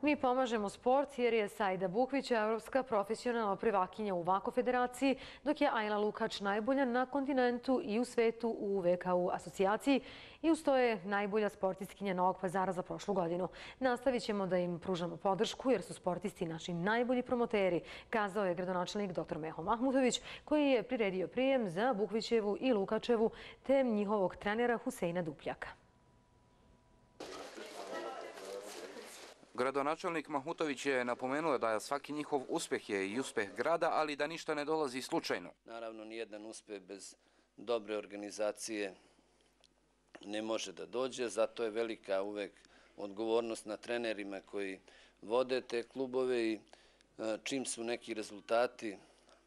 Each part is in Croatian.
Mi pomažemo sport jer je Sajda Bukvić evropska profesionalna prvakinja u Vako federaciji, dok je Ajla Lukač najbolja na kontinentu i u svetu u VKU asocijaciji i uz to je najbolja sportistkinja Novog Pazara za prošlu godinu. Nastavit ćemo da im pružamo podršku jer su sportisti naši najbolji promoteri, kazao je gradonačelnik dr. Meho Mahmutović, koji je priredio prijem za Bukvićevu i Lukačevu te njihovog trenera Huseina Dupljaka. Gradonačelnik Mahmutović je napomenuo da svaki njihov uspeh je i uspeh grada, ali da ništa ne dolazi slučajno. Naravno, nijedan uspeh bez dobre organizacije ne može da dođe, zato je velika uvek odgovornost na trenerima koji vode te klubove i čim su neki rezultati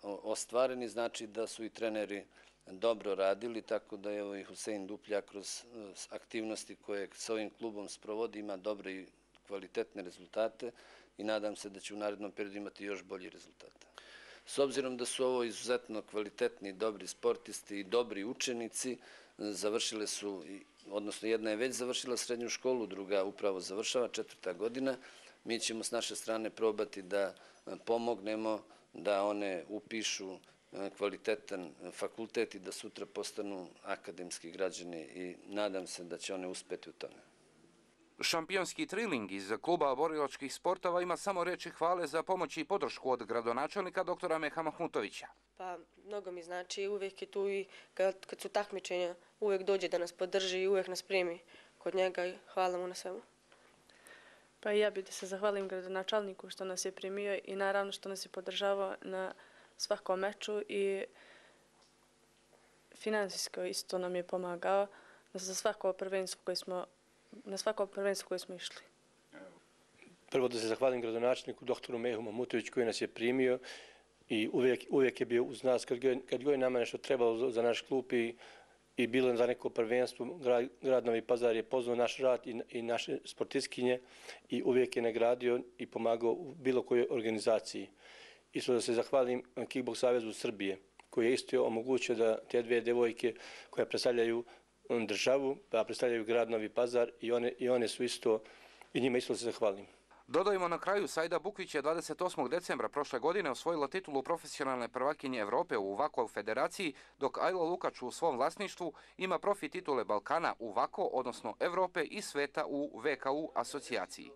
ostvareni, znači da su i treneri dobro radili, tako da je i Husein Dupljak kroz aktivnosti koje s ovim klubom sprovodi ima dobre i kvalitetne rezultate i nadam se da će u narednom periodu imati još bolji rezultate. S obzirom da su ovo izuzetno kvalitetni i dobri sportisti i dobri učenici, završile su, odnosno jedna je već završila srednju školu, druga upravo završava, 4. godina. Mi ćemo s naše strane probati da pomognemo da one upišu kvalitetan fakultet i da sutra postanu akademski građani i nadam se da će one uspeti u tome. Šampionski triling iz kluba borilačkih sportova ima samo reči hvale za pomoć i podršku od gradonačelnika dr. Meha Mahmutovića. Pa, mnogo mi znači, uvijek je tu i kad su takmičenja, uvijek dođe da nas podrži i uvijek nas primi kod njega i hvala mu na svemu. Pa i ja bih da se zahvalim gradonačelniku što nas je primio i naravno što nas je podržavao na svakom meču i finansijsko isto nam je pomagao za svako prvenstvo koje smo išli. Prvo da se zahvalim gradonačelniku dr. Mehu Mahmutoviću koji nas je primio i uvijek je bio uz nas kad god je nama nešto trebalo za naš klub i bilo za neko prvenstvo. Grad Novi Pazar je pozvao naš rad i naše sportistkinje i uvijek je nagradio i pomagao u bilo kojoj organizaciji. Isto da se zahvalim Kickboks savezu Srbije koji je isto omogućio da te dvije devojke koje predstavljaju državu, pa predstavljaju grad Novi Pazar i one su isto, i njima isto se zahvalim. Dodajmo na kraju, Sajda Bukvić je 28. decembra prošle godine osvojila titulu profesionalne prvakinje Evrope u Vako federaciji, dok Ajla Lukač u svom vlasništvu ima profi titule Balkana u Vako, odnosno Evrope i sveta u VKU asocijaciji.